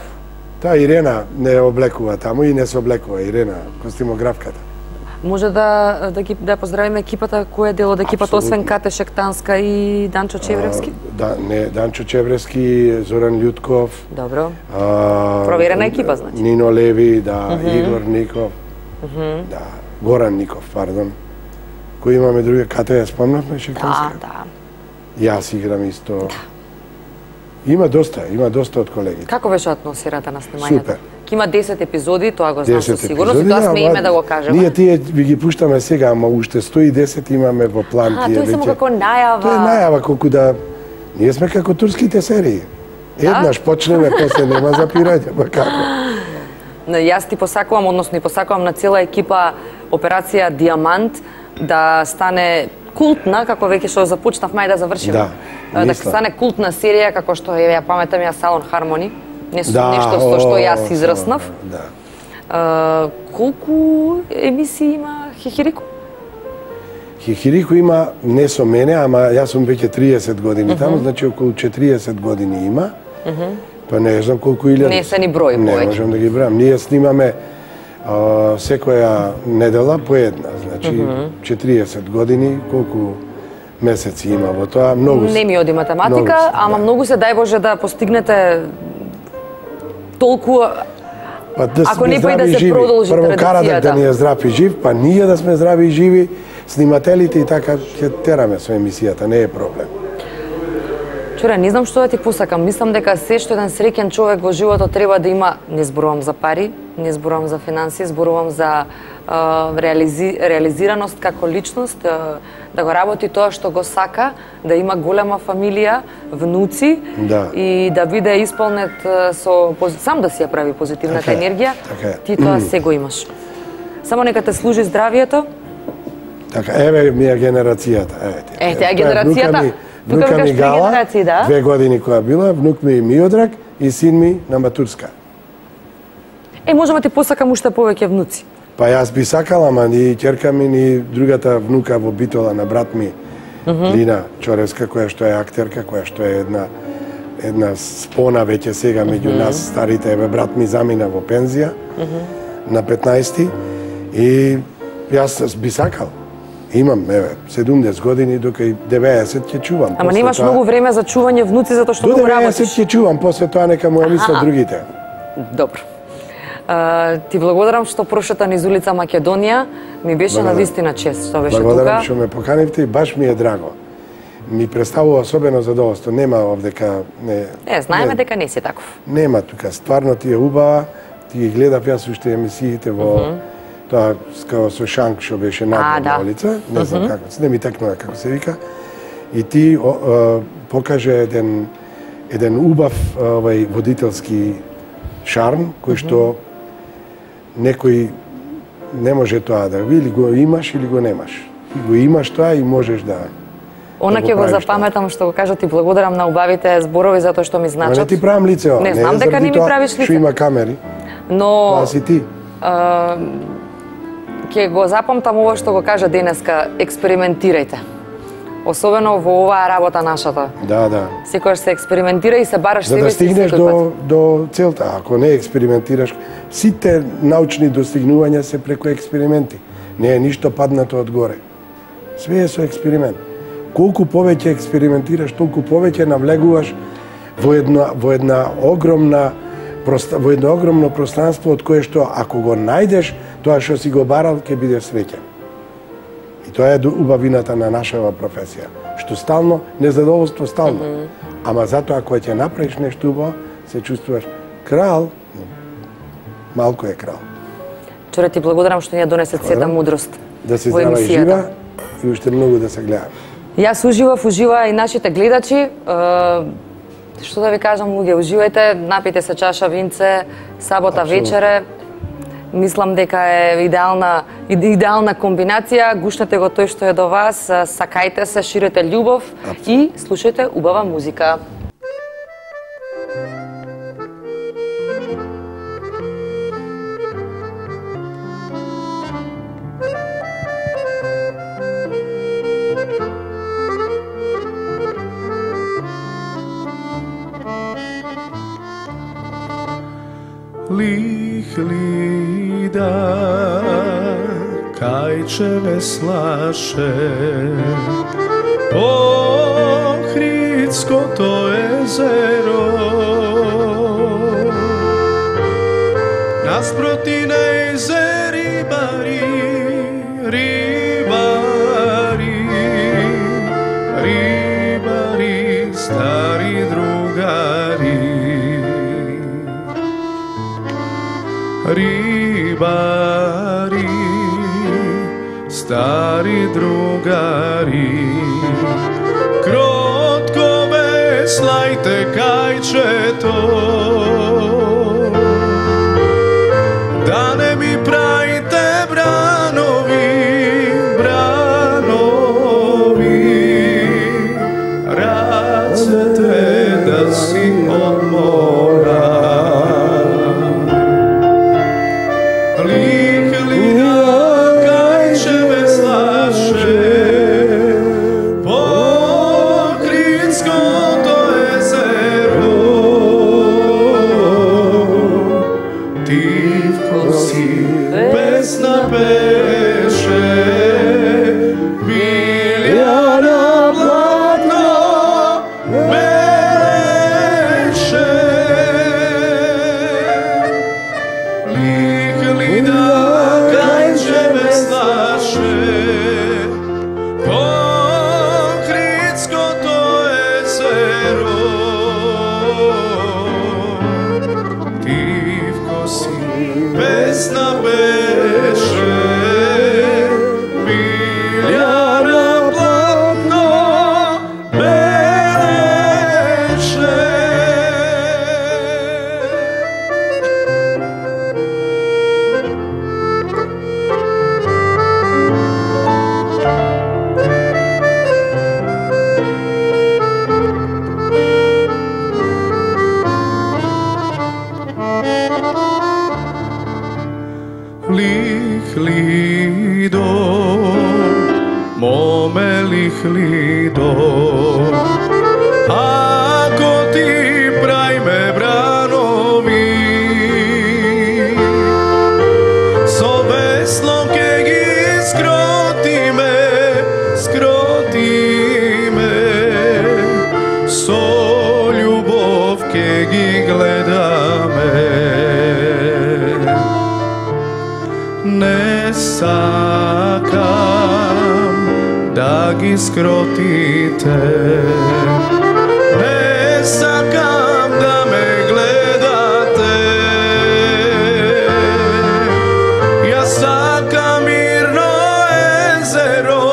Таа Ирена не облекува таму и не се облекува, Ирена, костимографката. Може да да ги да поздравиме екипата, кој е дел од екипата Апсолутно. освен Кате Шектанска и Данчо Чевревски? А, да, не, Данчо Чевревски, Зоран Љутков, Добро. а, Проверена екипа, значи. Нино Леви, да, Игор Ников, да, Горан Ников, пардон. Кој имаме други, Кате ја спомнавме, Да, Шектанска? да. Јас играм исто. Има доста, има доста од колегите. Како беше атмосферата на снимањето? Супер. Ќе има десет епизоди, тоа го знам со десет сигурност, и епизоди, тоа сме ама име да го кажеме. Ние тие ви ги пуштаме сега, ама уште сто и десет имаме во план. А, тие тоа е само веќе. како најава. Тоа е најава колку да ние сме како турските серии. Еднаш почнеме, после нема запирање, па како? Но јас ти посакувам, односно и посакувам на цела екипа Операција Диамант да стане култна, како веќе што започнавме и да завршиме. Да, да мислам. стане култна серија како што е, ја паметам ја Салон Хармони. Не со Да, нешто со што о, јас израснав. Да. А, колку емисии има Хихирику? Хихирику има не со мене, ама јас сум веќе триесет години таму, значи околу четириесет години има. Па не знам колку илјади. Не се ни брои Не повеќе. можам да ги бројам. Ние снимаме а, секоја недела по една, значи четириесет години, колку месеци има во тоа, многу. Не ми оди математика, многу се, ама да. многу се дај Боже да постигнете толку. Па да Ако сме не па и да здрави и се живи. продолжи Прво карадак традицијата. да ни е здрав и жив, па ние да сме здрави и живи, снимателите и така ќе тераме со емисијата, не е проблем. Чуре, не знам што да ти посакам. Мислам дека се што еден среќен човек во животот треба да има, не зборувам за пари, не зборувам за финансии, зборувам за а, реализи, реализираност како личност, а, да го работи тоа што го сака, да има голема фамилија, внуци Да. и да биде исполнет а, со пози- сам да си ја прави позитивната Така е, енергија. така е. Ти тоа се го имаш. Само нека те служи здравието. Така, еве ми е генерацијата, еве ти. Е, таа Тоа е генерацијата. внука ми- Тука Внука викаш ми три Гала, генерации, да? две години која била, внук ми Миодраг и син ми на матурска. Е, можеме да ти посакам уште повеќе внуци. Па јас би сакала, ама ни ќерка ми, ни другата внука во Битола на брат ми, Лина Чоревска, која што е актерка, која што е една една спона веќе сега меѓу нас старите, еве брат ми замина во пензија на петнаесети и јас би сакал. Имам, еве, седумдесет години, дока и деветдесет ќе чувам. Ама После немаш тоа- многу време за чување внуци затоа што До многу деветдесет работиш. ќе чувам, после тоа нека му ја мислат Аха. другите. Добро. А, ти благодарам што прошета низ улица Македонија. Ми беше на Благодарам. вистина чест што беше Благодарам тука. што ме поканивте и баш ми е драго. Ми представува особено задоволство. Нема овдека не. Е, знаеме не, дека не си таков. Нема тука. Стварно ти е убава. Ти ги гледав јас уште емисиите во тоа скао со Шанк што беше надвор да. на улица. Не знам како, не ми текнува како се вика. И ти о, о, покаже еден еден убав овај водителски шарм кој што некој не може тоа да го или го имаш или го немаш. И го имаш тоа и можеш да. Она да ќе го правиш запаметам што го кажа, ти благодарам на убавите зборови затоа што ми Ма не значат. ти правам лице ова. Не знам е дека заради не ми тоа правиш Што лице. има камери. Но Тоа си ти. а, ќе го запамтам ова што го кажа денеска, експериментирајте. Особено во оваа работа нашата. Да, да. Секогаш се експериментира и се бараш За себе да си стигнеш секој до, пат. до целта. Ако не експериментираш, сите научни достигнувања се преку експерименти. Не е ништо паднато од горе. Све е со експеримент. Колку повеќе експериментираш, толку повеќе навлегуваш во една во една огромна проста, во едно огромно пространство од кое што ако го најдеш тоа што си го барал ќе бидеш среќен. И тоа е убавината на нашава професија. Што стално, незадоволство стално. Mm -hmm. Ама затоа кога ќе направиш нешто убаво, се чувствуваш крал, малку е крал. Чуре, ти благодарам што ни ја донесе сета мудрост Да се во здрава и емисијата. жива и уште многу да се гледаме. Јас уживав, ужива и нашите гледачи. Е, што да ви кажам, луѓе, уживајте, напите се чаша винце, сабота Апсолутно. вечере. Мислам дека е идеална идеална комбинација. Гушнете го тој што е до вас, сакајте се, ширете љубов и слушајте убава музика. Lih lida kajčeve slaše Ohridsko to jezero Nasproti na jezeri bari Ribari Ribari Stari drugari Рибари, стари другари, кротко веслајте кајчето, да не ми правите бранови, бранови, рацете да си одмора. Lihlido, mome lihlido, ako ti prajme branovi, so veslo ke gi skrotime, skrotime, so ljubov ke gi gledame. Ne sakam da gi skrotite, ne sakam da me gledate, ja sakam mirno ezero,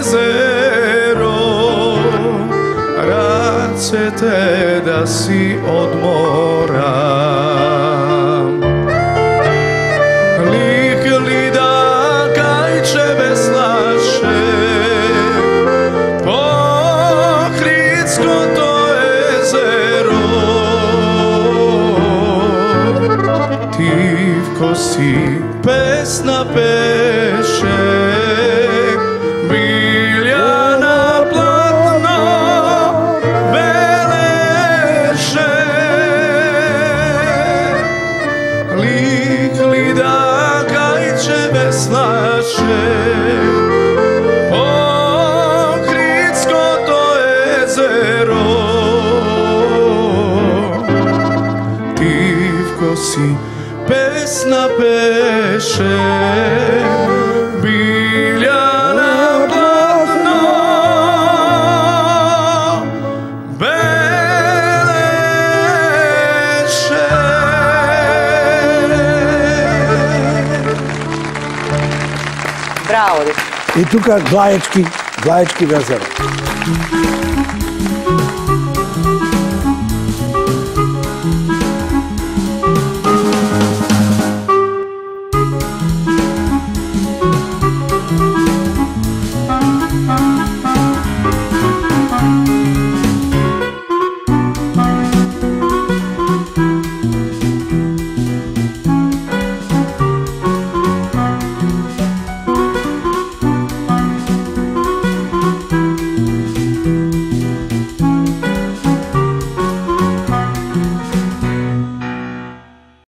ezero, racete da si odmoram. Si pesna peše, biljana platno beleše, lik lida kajče veslaše, pokritsko to jezero, tivko si pesna peše, biljana platno beleše. Браво! И тука Глаечки, Глаечки везеро.